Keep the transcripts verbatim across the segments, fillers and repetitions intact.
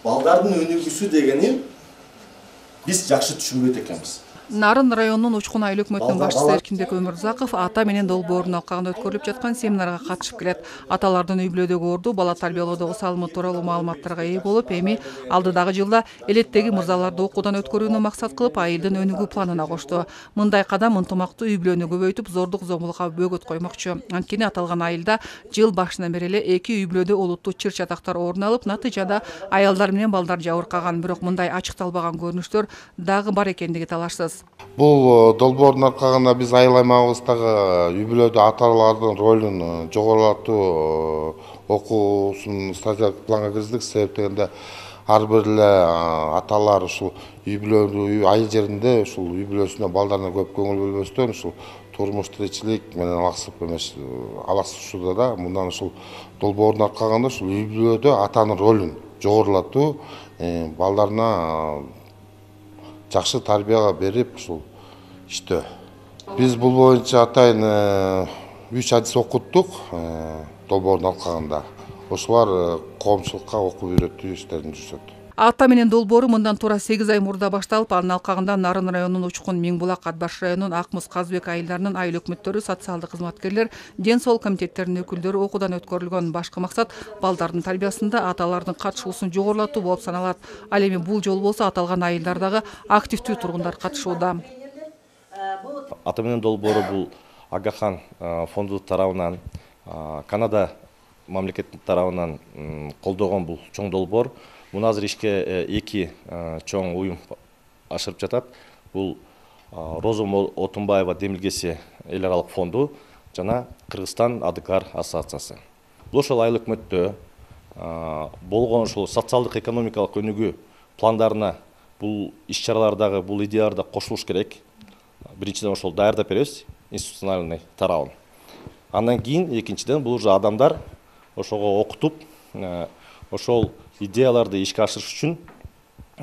балдардын өнүгүүсү дегени биз жакшы түшүнбөйт экенбиз. Нарын районунун Учкун айыл өкмөтүнүн башчысы Эркинбек Өмүрзаков ата менен долбоордун алкагында өткөрүлүп жаткан семинарга катышып келет. Аталардын үй бүлөдөгү орду, бала тарбиялоодогу салымы тууралуу маалыматтарга ээ болуп, эми алдыдагы жылда элеттеги мырзаларды окуудан өткөрүүнү максат кылып, айылдын өнүгүү планына кошту. Мындай кадам ынтымактуу үй бүлөнү көбөйтүп, зордук зомбулукка бөгөт коймокчу. Анткени аталган айылда жыл башынан бери эле эки үй бүлөдө олуттуу чыр чатактар орун алып, натыйжада аялдар менен балдар жабыркаган. Бирок мындай ачыкталбаган көрүнүштөр дагы бар экендиги талашсыз. Бул долбоордун аркагында биз айыл аймагыбыздагы үй бүлөдө аталардын ролун жогорулатуу окуусун стратегиялык планга киргиздик. Себеп дегенде ар бир эле аталар ушул үй бүлөнү айыл жеринде ушул үй бүлөсүнө балдарына көп көңүл бөлбөстөн ушул турмуш тиричилик менен алаксып эмес алаксышууда да мындан ушул долбоордун аркагында ушул үй бүлөдө атанын ролун жогорулатуу, балдарына жакшы тарбияга берип ушул иштөө. Биз бул боюнча атайын үч адис окуттук долбоордун алкагында. Ошолор коомчулукка окуп үйрөтүү иштерин жүргүзөт. Ата менен долбоору мындан туура сегиз ай мурда башталып, анын алкагында Нарын районунун Учкун, Миңбулак, Ат баш районунун Ак Муз, Казбек айылдарынын айыл өкмөттөрү, социалдык кызматкерлер, ден соолук комитеттеринин өкүлдөрү окуудан өткөрүлгөн. Башкы максат балдардын тарбиясында аталардын катышуусун жогорулатуу болуп саналат. Ал эми бул жолу болсо аталган айылдардагы активдүү тургундар катышууда. Ата менен долбоору бул Агахан фонду тарабынан, Канада мамлекети тарабынан колдогон бул чоң долбоор. Муну азыр ишке эки чоң уюм ашырып жатат. Бул Роза Отунбаева демилгеси эл аралык фонду жана Кыргызстан АДКАР ассоциациясы. Бул ошол айыл өкмөттө болгон ушул социалдык экономикалык өнүгүү пландарына бул иш-чаралардагы бул идеяларда кошулуш керек. Биринчиден ошол даярдап беребиз институциональный тарабын. Андан кийин экинчиден бул уже адамдар ошого окутуп, ошол идеяларды ишке ашырыш үчүн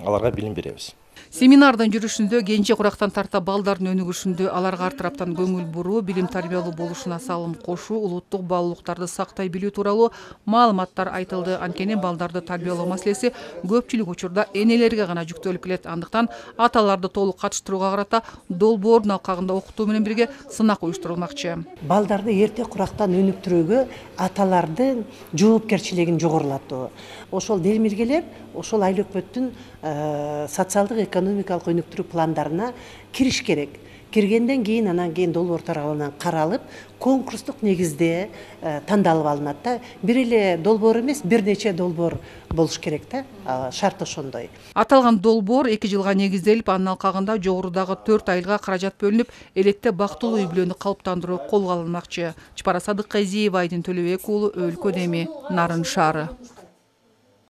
аларга билим беребиз. Семинардын жүрүшүндө кенже курактан тарта балдардын өнүгүшүндө аларга ар тараптан көңүл буруу, билим тарбиялуу болушуна салым кошуу, улуттук баалуулуктарды сактай билүү тууралуу маалыматтар айтылды. Анткени балдарды тарбиялоо маселеси көпчүлүк учурда энелерге гана жүктөлүп келет. Андыктан аталарды толук катыштырууга карата долбоордун алкагында окутуу менен бирге сынак уюштурулмакчы. Балдарды эрте курактан өнүктүрүүгө аталардын жоопкерчилигин жогорулатуу. Ошол демилгелер ошол айыл өкмөттүн социалдык экономикалык өнүктүрүү пландарына кириш керек. Киргенден кийин анан кийин долбоор тарабынан каралып, конкурстук негизде тандалып алынат да. Бир эле долбоор эмес, бир нече долбоор болуш керек да. Шарт ошондой. Аталган долбоор эки жылга негизделип, анын алкагында жогорудагы төрт айылга каражат бөлүнүп, элетте бактылуу үй бүлөнү калыптандыруу колго алынмакчы. Чапара Садыкказиева, Айдын Төлөбек уулу, Өлкө Деми, Нарын шаары.